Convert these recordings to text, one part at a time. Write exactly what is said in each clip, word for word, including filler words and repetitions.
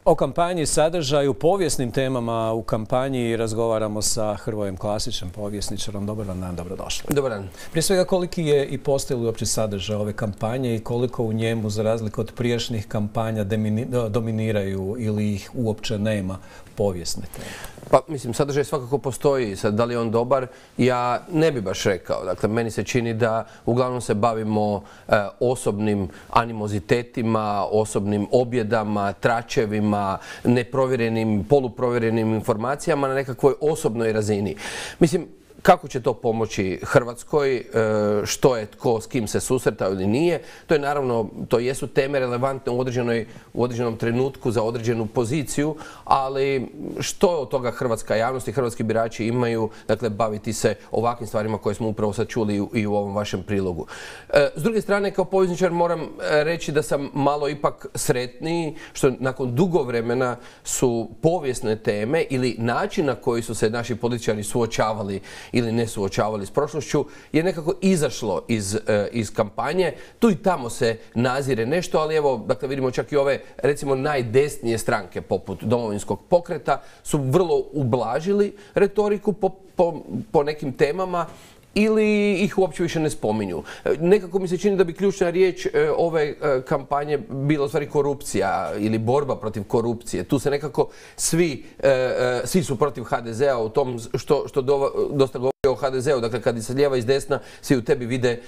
O kampanji, sadržaju, povijesnim temama u kampanji razgovaramo sa Hrvojem Klasićem, povjesničarom. Dobar vam dan, dobrodošli. Dobar dan. Prije svega, koliki je i postoji li uopće sadržaj ove kampanje i koliko u njemu, za razliku od prijašnjih kampanja, dominiraju ili ih uopće nema povijesne teme? Pa, mislim, sadržaj svakako postoji. Sad, da li je on dobar, ja ne bi baš rekao. Dakle, meni se čini da uglavnom se bavimo e, osobnim animozitetima, osobnim objedama, tračevima, neprovjerenim, poluprovjerenim informacijama na nekakvoj osobnoj razini. Mislim, kako će to pomoći Hrvatskoj, što je tko, s kim se susretao ili nije, to je naravno, to jesu teme relevantne u, određenoj, u određenom trenutku za određenu poziciju, ali što od toga hrvatska javnost i hrvatski birači imaju, dakle, baviti se ovakvim stvarima koje smo upravo sad čuli i u ovom vašem prilogu. S druge strane, kao povjesničar moram reći da sam malo ipak sretniji, što nakon dugo vremena su povijesne teme ili način na koji su se naši političari suočavali ili ne suočavali s prošlošću, je nekako izašlo iz, iz kampanje. Tu i tamo se nazire nešto, ali evo, dakle, vidimo čak i ove, recimo, najdesnije stranke poput Domovinskog pokreta su vrlo ublažili retoriku po, po, po nekim temama ili ih uopće više ne spominju. Nekako mi se čini da bi ključna riječ ove kampanje bila u stvari korupcija ili borba protiv korupcije. Tu se nekako svi, svi su protiv ha de zea u tom što, što dosta govori o ha de zeu. Dakle, kad se lijeva i s desna, svi u tebi vide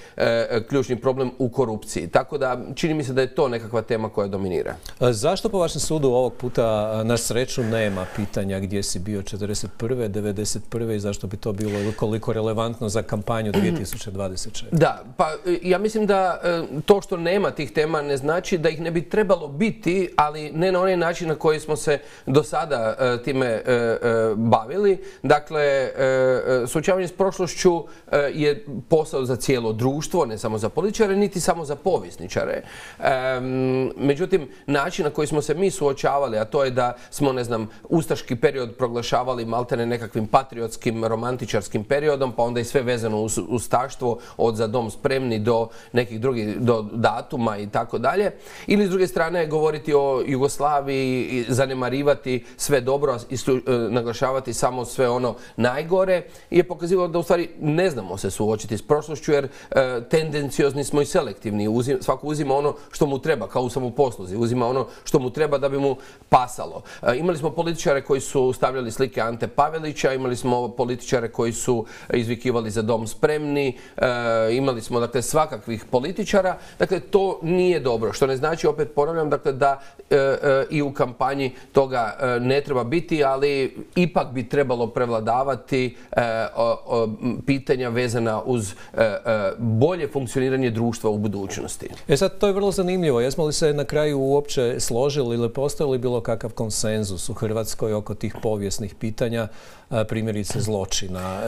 ključni problem u korupciji. Tako da čini mi se da je to nekakva tema koja dominira. Zašto po vašem sudu ovog puta na sreću nema pitanja gdje si bio četrdeset prve, devedeset prve i zašto bi to bilo koliko relevantno za kampanju dvije tisuće dvadeset četvrte? Da, pa ja mislim da to što nema tih tema ne znači da ih ne bi trebalo biti, ali ne na onaj način na koji smo se do sada time bavili. Dakle, suočavanje s prošlošću je posao za cijelo društvo, ne samo za političare, niti samo za povjesničare. Međutim, način na koji smo se mi suočavali, a to je da smo, ne znam, ustaški period proglašavali maltene nekakvim patriotskim, romantičarskim periodom, pa onda i sve vezano uz ustaštvo, od Za dom spremni do nekih drugih, do datuma i tako dalje. Ili s druge strane govoriti o Jugoslaviji, zanemarivati sve dobro i naglašavati samo sve ono najgore, je pokazivalo da u stvari ne znamo se suočiti s prošlošću, jer e, tendenciozni smo i selektivni. Uzim, svako uzima ono što mu treba, kao u samoposluzi. Uzima ono što mu treba da bi mu pasalo. E, imali smo političare koji su stavljali slike Ante Pavelića, imali smo političare koji su izvikivali Za dom spremni, e, imali smo, dakle, svakakvih političara. Dakle, to nije dobro. Što ne znači, opet ponavljam, dakle, da e, e, i u kampanji toga e, ne treba biti, ali ipak bi trebalo prevladavati e, o, o, pitanja vezana uz e, e, bolje funkcioniranje društva u budućnosti. E sad, to je vrlo zanimljivo. Jesmo li se na kraju uopće složili ili postoji li bilo kakav konsenzus u Hrvatskoj oko tih povijesnih pitanja, primjerice zločina,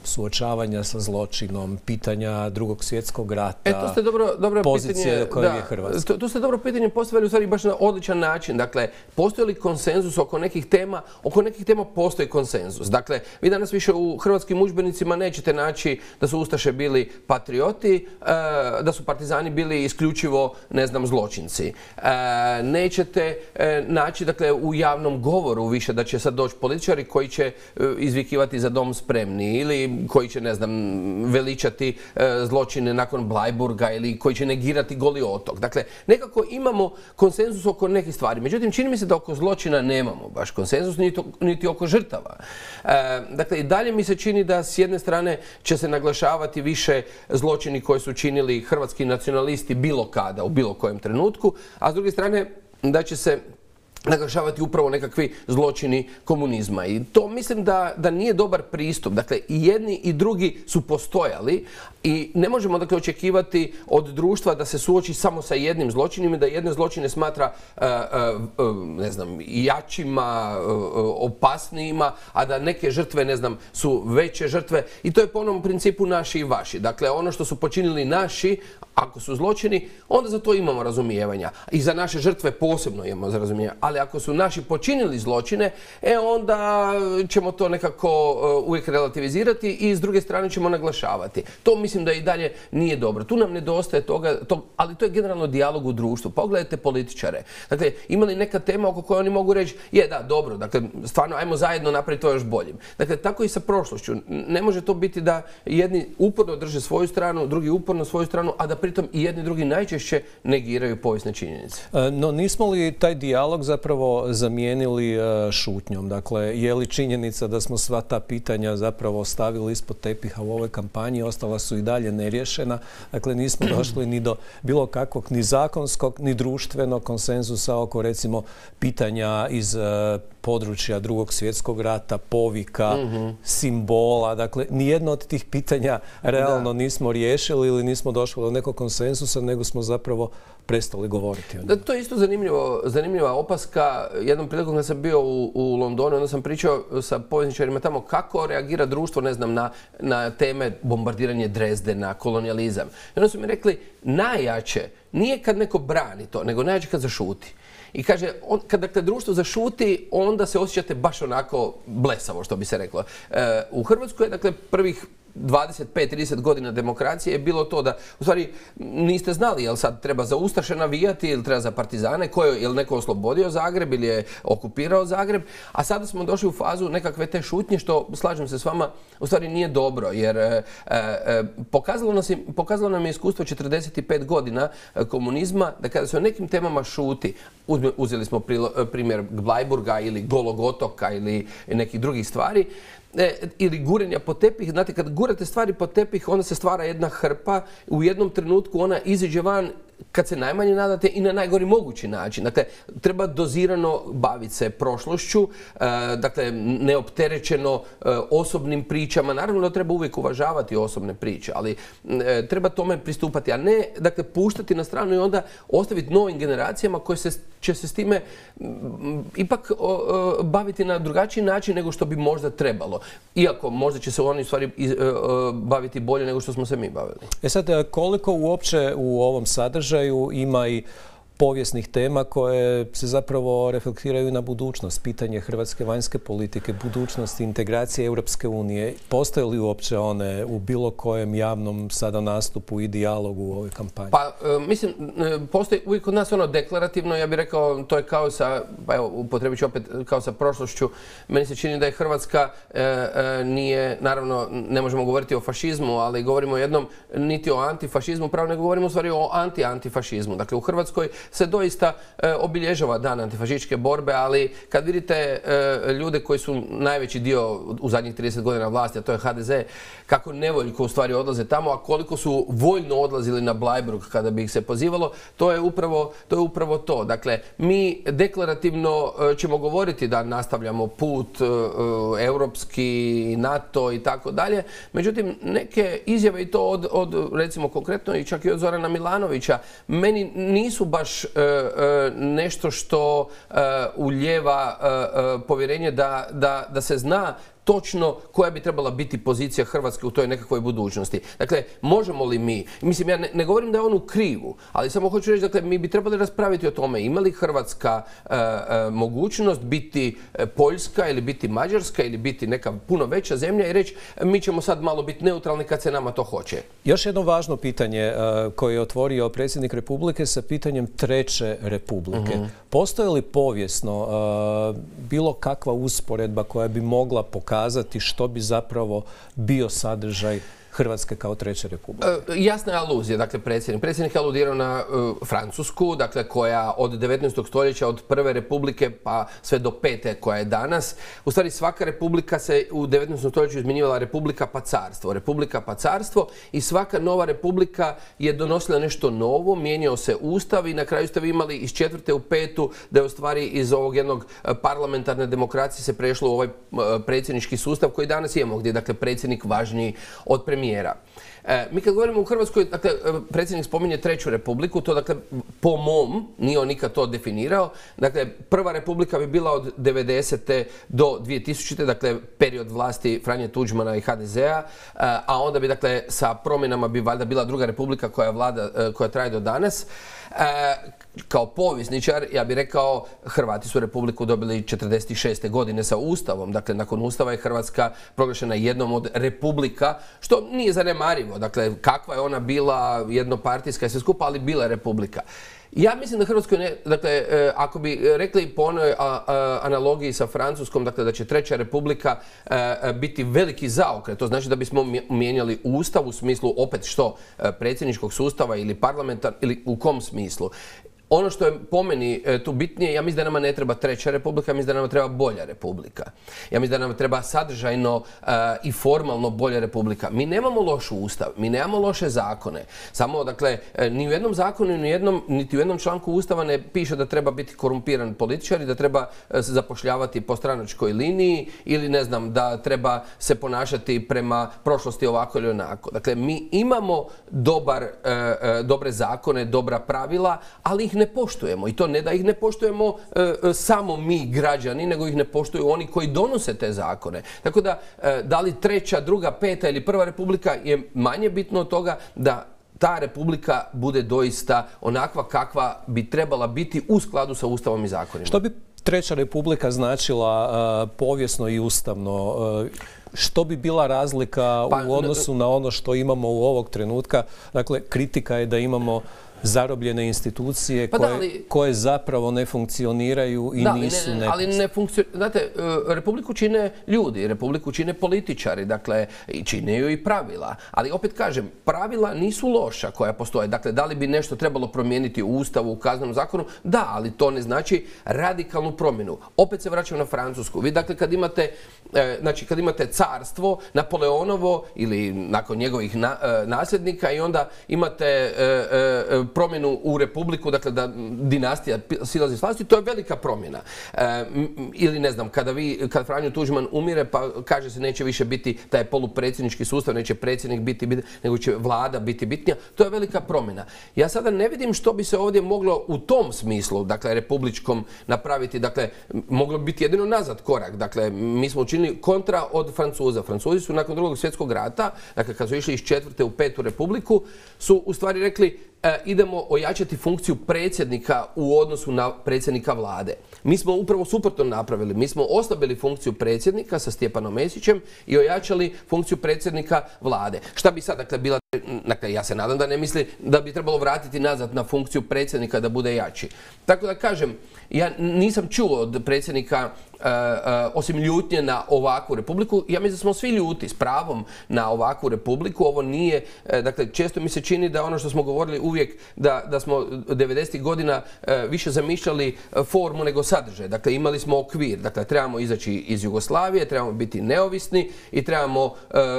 suočavanja sa zločinom, pitanja Drugog svjetskog rata, e, to ste dobro, dobro pozicije pitanje, koje da, je Hrvatska? To, to ste dobro pitanje postavili u stvari baš na odličan način. Dakle, postoji li konsenzus oko nekih tema? Oko nekih tema postoji konsenzus. Dakle, vi danas više u hrvatskim udžbenicima nećete naći da su ustaše bili patrioti, da su partizani bili isključivo, ne znam, zločinci. Nećete naći, dakle, u javnom govoru više da će sad doći političari koji će izvikivati Za dom spremni ili koji će, ne znam, veličati zločine nakon Blajburga ili koji će negirati Goli otok. Dakle, nekako imamo konsenzus oko nekih stvari. Međutim, čini mi se da oko zločina nemamo baš konsenzus, niti, niti oko žrtava. Dakle, i dalje mi se čini da s jedne strane će se naglašavati više zločini koje su činili hrvatski nacionalisti bilo kada, u bilo kojem trenutku, a s druge strane da će se naglašavati upravo nekakvi zločini komunizma. I to mislim da, da nije dobar pristup. Dakle, i jedni i drugi su postojali i ne možemo, dakle, očekivati od društva da se suoči samo sa jednim zločinima i da jedne zločine smatra uh, uh, ne znam, jačima, uh, opasnijima, a da neke žrtve, ne znam, su veće žrtve. I to je po onom principu naši i vaši. Dakle, ono što su počinili naši, Ako su zločini, onda za to imamo razumijevanja. I za naše žrtve posebno imamo za razumijevanja. Ali ako su naši počinili zločine, e onda ćemo to nekako uvijek relativizirati i s druge strane ćemo naglašavati. To mislim da i dalje nije dobro. Tu nam nedostaje toga, to, ali to je generalno dijalog u društvu. Pogledajte političare. Dakle, ima li neka tema oko koje oni mogu reći, je da, dobro, dakle, stvarno, ajmo zajedno napraviti to još boljim. Dakle, tako i sa prošlošću. Ne može to biti da jedni uporno drže svoju stranu, drugi uporno svoju stranu, a da pritom i jedni drugi najčešće negiraju povijesne činjenice. No, nismo li taj dijalog zapravo zamijenili šutnjom? Dakle, je li činjenica da smo sva ta pitanja zapravo stavili ispod tepiha u ovoj kampanji, ostala su i dalje neriješena. Dakle, nismo došli ni do bilo kakvog ni zakonskog, ni društvenog konsenzusa oko, recimo, pitanja iz područja Drugog svjetskog rata, povika, mm-hmm. simbola. Dakle, nijedno od tih pitanja realno da. nismo riješili ili nismo došli do nekog konsenzusa, nego smo zapravo prestali govoriti o njima. Da, to je isto zanimljivo, zanimljiva opaska. Jednom prilikom kad sam bio u, u Londonu, onda sam pričao sa povjesničarima tamo kako reagira društvo, ne znam, na, na teme bombardiranje Dresdena, kolonijalizam. I onda su mi rekli, najjače nije kad neko brani to, nego najjače kad zašuti. I kaže, on, kad dakle, društvo zašuti, onda se osjećate baš onako blesavo, što bi se reklo. E, u Hrvatskoj je, dakle, prvih dvadeset pet trideset godina demokracije je bilo to da, u stvari, niste znali jel sad treba za ustaše navijati ili treba za partizane, ko je, jel neko oslobodio Zagreb ili je okupirao Zagreb, a sada smo došli u fazu nekakve te šutnje, što, slažem se s vama, u stvari nije dobro, jer e, e, pokazalo, nas, pokazalo nam je iskustvo četrdeset pet godina komunizma, da kada se o nekim temama šuti, uzme, uzeli smo prilo, primjer Bleiburga ili Golog otoka ili nekih drugih stvari, E, ili gurenja po tepih. Znate, kad gurate stvari po tepih, onda se stvara jedna hrpa, u jednom trenutku ona iziđe van kad se najmanje nadate i na najgori mogući način. Dakle, treba dozirano baviti se prošlošću, e, dakle, neopterećeno e, osobnim pričama. Naravno da treba uvijek uvažavati osobne priče, ali e, treba tome pristupati, a ne, dakle, puštati na stranu i onda ostaviti novim generacijama koje se, će se s time m, ipak o, o, baviti na drugačiji način nego što bi možda trebalo. Iako možda će se oni u stvari iz, o, baviti bolje nego što smo se mi bavili. E sad, koliko uopće u ovom sadržaju ima i povijesnih tema koje se zapravo reflektiraju na budućnost, pitanje hrvatske vanjske politike, budućnosti integracije Europske unije. Postoje li uopće one u bilo kojem javnom sada nastupu i dijalogu u ovoj kampanji? Pa, e, mislim, postoji uvijek kod nas ono deklarativno, ja bih rekao, to je kao sa, pa evo, upotrebit ću opet, kao sa prošlošću. Meni se čini da je Hrvatska e, e, nije, naravno, ne možemo govoriti o fašizmu, ali govorimo o jednom, niti o antifašizmu, pravo nego govorimo u stvari o anti-antifašizmu. Dakle, u Hrvatskoj se doista e, obilježava dan antifašističke borbe, ali kad vidite e, ljude koji su najveći dio u zadnjih trideset godina vlasti, a to je ha de ze, kako nevoljko u stvari odlaze tamo, a koliko su voljno odlazili na Bleiburg kada bi ih se pozivalo, to je upravo to. Je upravo to. Dakle, mi deklarativno e, ćemo govoriti da nastavljamo put e, europski, NATO i tako dalje, međutim, neke izjave i to od, od recimo konkretno i čak i od Zorana Milanovića, meni nisu baš nešto što ulijeva povjerenje da, da, da se zna točno koja bi trebala biti pozicija Hrvatske u toj nekakvoj budućnosti. Dakle, možemo li mi, mislim, ja ne, ne govorim da je on u krivu, ali samo hoću reći, dakle, mi bi trebali raspraviti o tome ima li Hrvatska e, e, mogućnost biti Poljska ili biti Mađarska ili biti neka puno veća zemlja i reći mi ćemo sad malo biti neutralni kad se nama to hoće. Još jedno važno pitanje e, koje je otvorio predsjednik Republike sa pitanjem Treće Republike. Mm-hmm. Postoji li povijesno e, bilo kakva usporedba koja bi mogla pokazati što bi zapravo bio sadržaj Hrvatske kao Treće Republike? E, jasna je aluzija, dakle, predsjednik. Predsjednik je aludirao na e, Francusku, dakle, koja od devetnaestog stoljeća, od prve republike pa sve do pete koja je danas. U stvari, svaka republika se u devetnaestom stoljeću izmjenjivala republika pa carstvo. Republika pa carstvo i svaka nova republika je donosila nešto novo, mijenjao se ustav i na kraju ste vi imali iz četvrte u petu da je u stvari iz ovog jednog parlamentarne demokracije se prešlo u ovaj predsjednički sustav koji danas imamo, gdje je, dakle, predsjednik važniji od premijera. premijera. Mi kad govorimo u Hrvatskoj, dakle, predsjednik spominje treću republiku, to dakle, po mom, nije on nikad to definirao, dakle, prva republika bi bila od devedesete do dvije tisućite, dakle, period vlasti Franje Tuđmana i ha de zea, a onda bi, dakle, sa promjenama bi valjda bila druga republika koja vlada, koja traje do danas. Kao povjesničar, ja bih rekao, Hrvati su republiku dobili četrdeset šeste godine sa Ustavom. Dakle, nakon Ustava je Hrvatska proglašena jednom od republika, što nije zanemarivo. Dakle, kakva je ona bila, jednopartijska i sve skupa, ali bila je republika. Ja mislim da Hrvatskoj, ne, dakle, ako bi rekli po onoj analogiji sa Francuskom, dakle, da će treća republika biti veliki zaokret, to znači da bismo mijenjali Ustav u smislu opet što predsjedničkog sustava ili parlamentar, ili u kom smislu. Ono što je po meni tu bitnije, ja mislim da nama ne treba treća republika, ja mislim da nama treba bolja republika. Ja mislim da nam treba sadržajno uh, i formalno bolja republika. Mi nemamo loš ustav, mi nemamo loše zakone. Samo, dakle, ni u jednom zakonu, ni u jednom, niti u jednom članku ustava ne piše da treba biti korumpiran političar i da treba se zapošljavati po stranačkoj liniji ili, ne znam, da treba se ponašati prema prošlosti ovako ili onako. Dakle, mi imamo dobar, uh, uh, dobre zakone, dobra pravila, ali ih ne poštujemo. I to ne da ih ne poštujemo e, samo mi građani, nego ih ne poštuju oni koji donose te zakone. Tako da, e, da li treća, druga, peta ili prva republika je manje bitno od toga da ta republika bude doista onakva kakva bi trebala biti u skladu sa Ustavom i zakonima. Što bi treća republika značila uh, povijesno i ustavno? Uh, Što bi bila razlika pa, u odnosu na ono što imamo u ovog trenutka? Dakle, kritika je da imamo zarobljene institucije pa koje, da, ali, koje zapravo ne funkcioniraju i da, nisu ne, ne, ali ne funkcioniraju. Znate, republiku čine ljudi, republiku čine političari, dakle, i čine ju i pravila. Ali opet kažem, pravila nisu loša koja postoje. Dakle, da li bi nešto trebalo promijeniti u Ustavu, u Kaznenom zakonu? Da, ali to ne znači radikalnu promjenu. Opet se vraćam na Francusku. Vi, dakle, kad imate, e, znači, kad imate carstvo, Napoleonovo ili nakon njegovih na, e, nasljednika i onda imate e, e, promjenu u republiku, dakle da dinastija silazi s vlasti, to je velika promjena. E, ili ne znam, kada vi, kad Franjo Tuđman umire, pa kaže se neće više biti taj polupredsjednički sustav, neće predsjednik biti bitnija, nego će vlada biti bitnija, to je velika promjena. Ja sada ne vidim što bi se ovdje moglo u tom smislu, dakle republičkom napraviti, dakle moglo biti jedino nazad korak. Dakle, mi smo učinili kontra od Francuza. Francuzi su nakon drugog svjetskog rata, dakle kad su išli iz četvrte u petu republiku, su u stvari rekli E, idemo ojačati funkciju predsjednika u odnosu na predsjednika vlade. Mi smo upravo suprotno napravili. Mi smo oslabili funkciju predsjednika sa Stjepanom Mesićem i ojačali funkciju predsjednika vlade. Šta bi sad, dakle, bila... Dakle, ja se nadam da ne misli da bi trebalo vratiti nazad na funkciju predsjednika da bude jači. Tako da kažem, ja nisam čuo od predsjednika Uh, uh, osim ljutnje na ovakvu republiku, ja mislim da smo svi ljuti s pravom na ovakvu republiku. Ovo nije, uh, dakle, često mi se čini da ono što smo govorili uvijek, da, da smo devedesetih godina uh, više zamišljali uh, formu nego sadržaj. Dakle, imali smo okvir, dakle, trebamo izaći iz Jugoslavije, trebamo biti neovisni i trebamo, uh,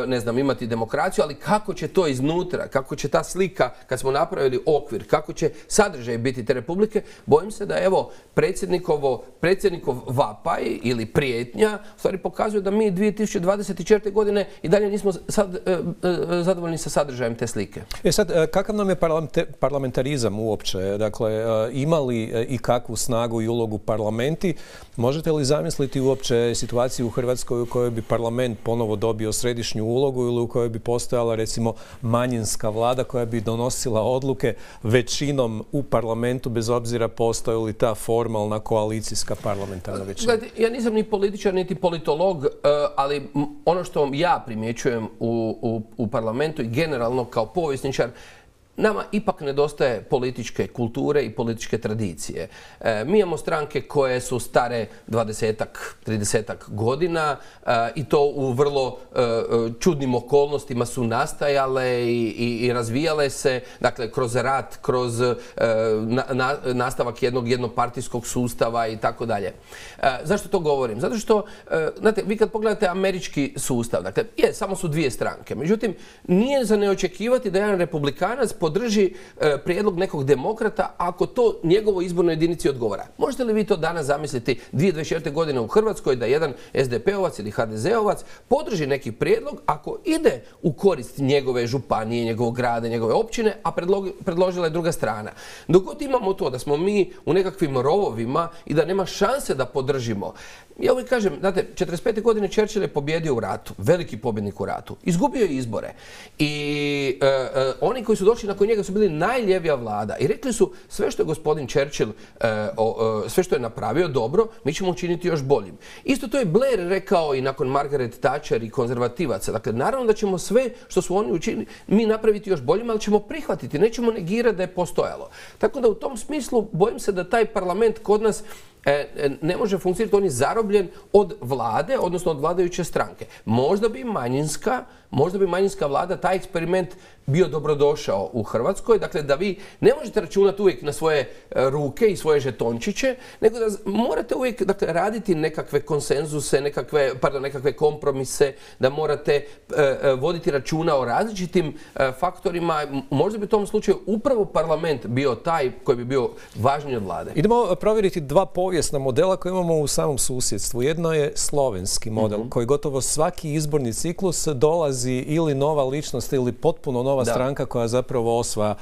ne znam, imati demokraciju, ali kako će to iznutra, kako će ta slika, kad smo napravili okvir, kako će sadržaj biti te republike, bojim se da, evo, predsjednikovo, predsjednikov vapaj ili prijetnja u stvari pokazuje da mi dvije tisuće dvadeset četvrte. godine i dalje nismo sad, e, e, zadovoljni sa sadržajem te slike. E sad, kakav nam je parlamentarizam uopće? Dakle, ima li i kakvu snagu i ulogu parlamenti? Možete li zamisliti uopće situaciju u Hrvatskoj u kojoj bi parlament ponovo dobio središnju ulogu ili u kojoj bi postojala, recimo, manjinska vlada koja bi donosila odluke većinom u parlamentu, bez obzira postoji li ta formalna koalicijska parlamentarna većina? Ja nisam ni političar, niti politolog, ali ono što ja primjećujem u, u, u parlamentu i generalno kao povjesničar, nama ipak nedostaje političke kulture i političke tradicije. E, mi imamo stranke koje su stare dvadesetak, tridesetak godina e, i to u vrlo e, čudnim okolnostima su nastajale i, i, i razvijale se, dakle, kroz rat, kroz e, na, na, nastavak jednog jednopartijskog sustava i tako dalje. Zašto to govorim? Zato što, e, znate, vi kad pogledate američki sustav, dakle, je, samo su dvije stranke. Međutim, nije za neočekivati da jedan republikanac pod podrži prijedlog nekog demokrata ako to njegovoj izbornoj jedinici odgovara. Možete li vi to danas zamisliti dvije tisuće dvadeset četvrte. godine u Hrvatskoj da jedan es de pe ovac ili ha de ze ovac podrži neki prijedlog ako ide u korist njegove županije, njegovog grada, njegove općine, a predložila je druga strana. Dok god imamo to da smo mi u nekakvim rovovima i da nema šanse da podržimo. Ja uvijek kažem, znate, četrdeset pete. godine Churchill je pobjedio u ratu, veliki pobjednik u ratu. Izgubio je izbore. I e, e, oni koji su došli nakon njega su bili najljevija vlada i rekli su sve što je gospodin Churchill, e, o, e, sve što je napravio dobro, mi ćemo učiniti još boljim. Isto to je Blair rekao i nakon Margaret Thatcher i konzervativaca. Dakle, naravno da ćemo sve što su oni učinili mi napraviti još boljim, ali ćemo prihvatiti, nećemo negirati da je postojalo. Tako da u tom smislu bojim se da taj parlament kod nas ne može funkcionirati, on je zarobljen od vlade, odnosno od vladajuće stranke. Možda bi manjinska, možda bi manjinska vlada taj eksperiment bio dobrodošao u Hrvatskoj, dakle da vi ne možete računati uvijek na svoje ruke i svoje žetončiće, nego da morate uvijek dakle, raditi nekakve konsenzuse, nekakve, pardon, nekakve kompromise, da morate e, voditi računa o različitim e, faktorima. Možda bi u tom slučaju upravo parlament bio taj koji bi bio važniji od vlade. Idemo provjeriti dva povijesna modela koje imamo u samom susjedstvu. Jedno je slovenski model, mm-hmm. koji gotovo svaki izborni ciklus dolazi ili nova ličnost ili potpuno nova da. stranka koja zapravo osvaja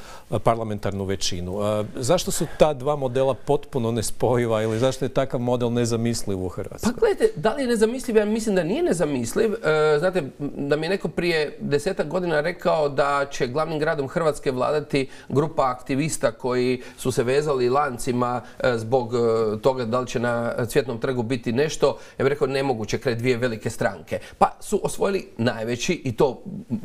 parlamentarnu većinu. Zašto su ta dva modela potpuno nespojiva ili zašto je takav model nezamisliv u Hrvatskoj? Pa gledajte, da li je nezamisliv? Ja mislim da nije nezamisliv. E, znate, da mi je neko prije desetak godina rekao da će glavnim gradom Hrvatske vladati grupa aktivista koji su se vezali lancima e, zbog e, toga da li će na Cvjetnom trgu biti nešto. Ja bih rekao nemoguće kraj dvije velike stranke. Pa su osvojili najveći i to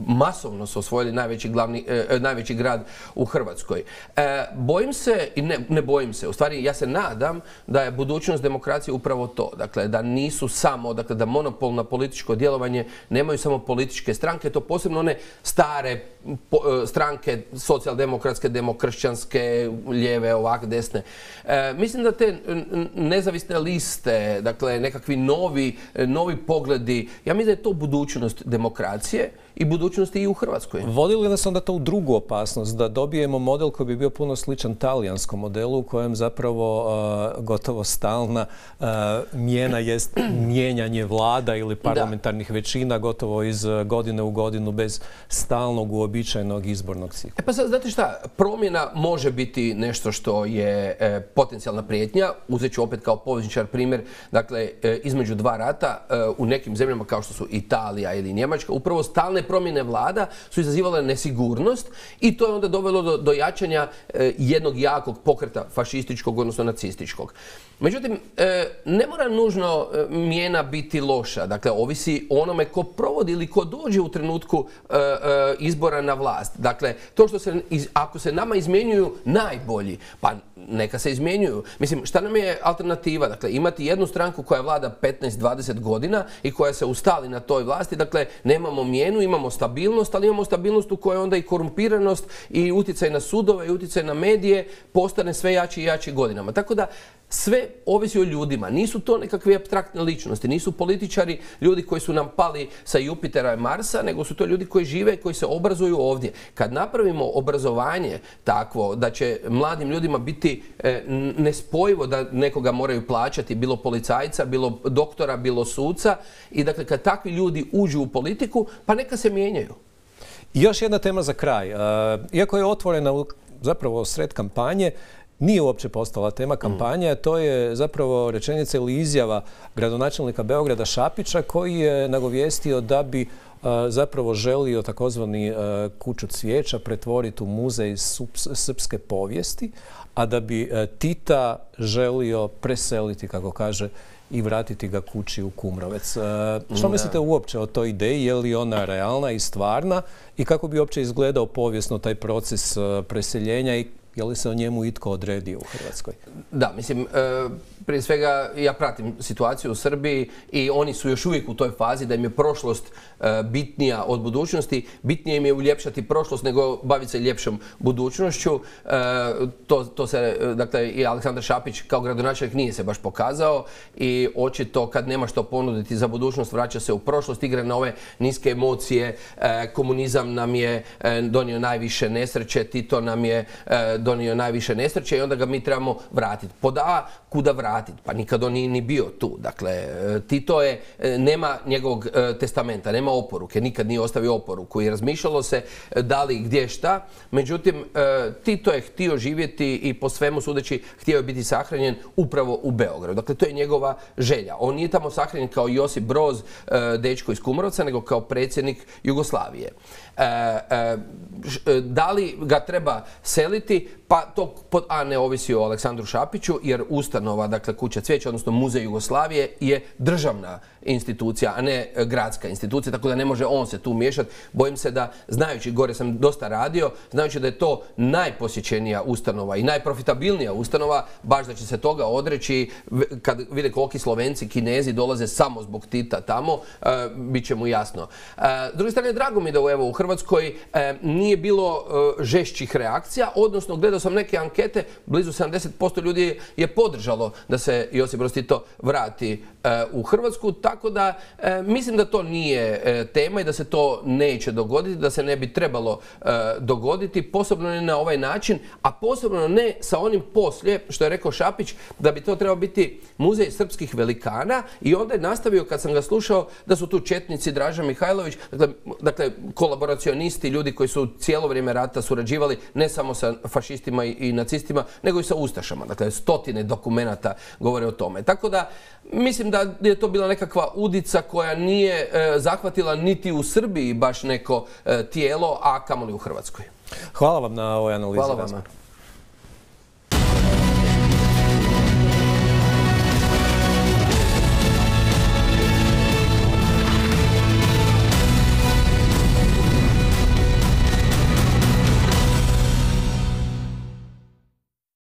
masovno su osvojili najveći, glavni, e, najveći grad u Hrvatskoj. E, bojim se, i ne, ne bojim se, u stvari ja se nadam da je budućnost demokracije upravo to. Dakle, da nisu samo, dakle, da monopol na političko djelovanje nemaju samo političke stranke, to posebno one stare po, e, stranke, socijaldemokratske, demokršćanske, lijeve, ovak, desne. E, mislim da te nezavisne liste, dakle, nekakvi novi, novi pogledi, ja mislim da je to budućnost demokracije i budućnosti i u Hrvatskoj. Vodi li nas onda to u drugu opasnost, da dobijemo model koji bi bio puno sličan talijanskom modelu u kojem zapravo uh, gotovo stalna uh, mijena jest mijenjanje vlada ili parlamentarnih da. većina gotovo iz godine u godinu bez stalnog uobičajenog izbornog cikla? E pa sad, znate šta, promjena može biti nešto što je e, potencijalna prijetnja. Uzet ću opet kao povjesničar primjer, dakle, e, između dva rata e, u nekim zemljama kao što su Italija ili Njemačka, upravo stalne promjene vlada su izazivale nesigurnost i to je onda dovelo do, do jačanja e, jednog jakog pokreta fašističkog, odnosno nacističkog. Međutim, e, ne mora nužno e, mijena biti loša. Dakle, ovisi o onome ko provodi ili ko dođe u trenutku e, e, izbora na vlast. Dakle, to što se, iz, ako se nama izmjenjuju najbolji, pa neka se izmjenjuju. Mislim, šta nam je alternativa? Dakle, imati jednu stranku koja vlada petnaest dvadeset godina i koja se ustali na toj vlasti. Dakle, nemamo mijenu, imamo stabilnost, ali imamo stabilnost u kojoj onda i korumpiranost i utjecaj na sudove i utjecaj na medije postane sve jači i jači godinama. Tako da, sve ovisi o ljudima. Nisu to nekakve apstraktne ličnosti, nisu političari ljudi koji su nam pali sa Jupitera i Marsa, nego su to ljudi koji žive i koji se obrazuju ovdje. Kad napravimo obrazovanje takvo da će mladim ljudima biti e, nespojivo da nekoga moraju plaćati, bilo policajca, bilo doktora, bilo suca, i dakle kad takvi ljudi uđu u politiku, pa neka se mijenjaju. I još jedna tema za kraj. Iako je otvorena zapravo sred kampanje, nije uopće postala tema kampanje, to je zapravo rečenica ili izjava gradonačelnika Beograda Šapića koji je nagovijestio da bi zapravo želio takozvani Kuću cvijeća pretvoriti u muzej srpske povijesti, a da bi Tita želio preseliti, kako kaže, i vratiti ga kući u Kumrovec. Što mislite uopće o toj ideji? Je li ona realna i stvarna? I kako bi uopće izgledao povijesno taj proces preseljenja i je li se o njemu itko odredio u Hrvatskoj? Da, mislim, e, prije svega ja pratim situaciju u Srbiji i oni su još uvijek u toj fazi da im je prošlost bitnija od budućnosti. Bitnije im je uljepšati prošlost nego baviti se ljepšom budućnošću. To, to se, dakle, i Aleksandar Šapić kao gradonačelnik nije se baš pokazao i očito kad nema što ponuditi za budućnost vraća se u prošlost, igra na ove niske emocije. Komunizam nam je donio najviše nesreće, Tito nam je donio najviše nesreće i onda ga mi trebamo vratiti. Pod A, kuda vratiti? Pa nikad on nije ni bio tu. Dakle, Tito je, nema njegovog testamenta, nema oporuke, nikad nije ostavio oporuku i razmišljalo se da li gdje šta. Međutim, Tito je htio živjeti i po svemu sudeći htio je biti sahranjen upravo u Beogradu. Dakle, to je njegova želja. On nije tamo sahranjen kao Josip Broz, dečko iz Kumrovca, nego kao predsjednik Jugoslavije. Da li ga treba seliti? Pa to pod A ne ovisi o Aleksandru Šapiću, jer ustanova, dakle Kuća cvijeća, odnosno Muzej Jugoslavije, je državna institucija, a ne gradska institucija, tako da ne može on se tu miješati. Bojim se da, znajući, gore sam dosta radio, znajući da je to najposjećenija ustanova i najprofitabilnija ustanova, baš da će se toga odreći, kad vide koliki Slovenci, Kinezi dolaze samo zbog Tita tamo, bit će mu jasno. S druge strane, drago mi da evo, u Hrvatskoj nije bilo žešćih reakcija, odnosno gledao sam neke ankete, blizu sedamdeset posto ljudi je podržalo da se Josip Broz Tito vrati u Hrvatsku, tako da mislim da to nije tema i da se to neće dogoditi, da se ne bi trebalo dogoditi, posebno ne na ovaj način, a posebno ne sa onim poslije, što je rekao Šapić, da bi to trebao biti muzej srpskih velikana i onda je nastavio, kad sam ga slušao, da su tu četnici, Draža Mihajlović, dakle, dakle kolaboracionisti, ljudi koji su cijelo vrijeme rata surađivali ne samo sa fašistima i, i nacistima, nego i sa ustašama. Dakle, stotine dokumenata govore o tome. Tako da, mislim da je to bila nekakva udica koja nije e, zahvatila niti u Srbiji baš neko e, tijelo, a kamoli u Hrvatskoj. Hvala vam na ovoj analizi. Hvala vama.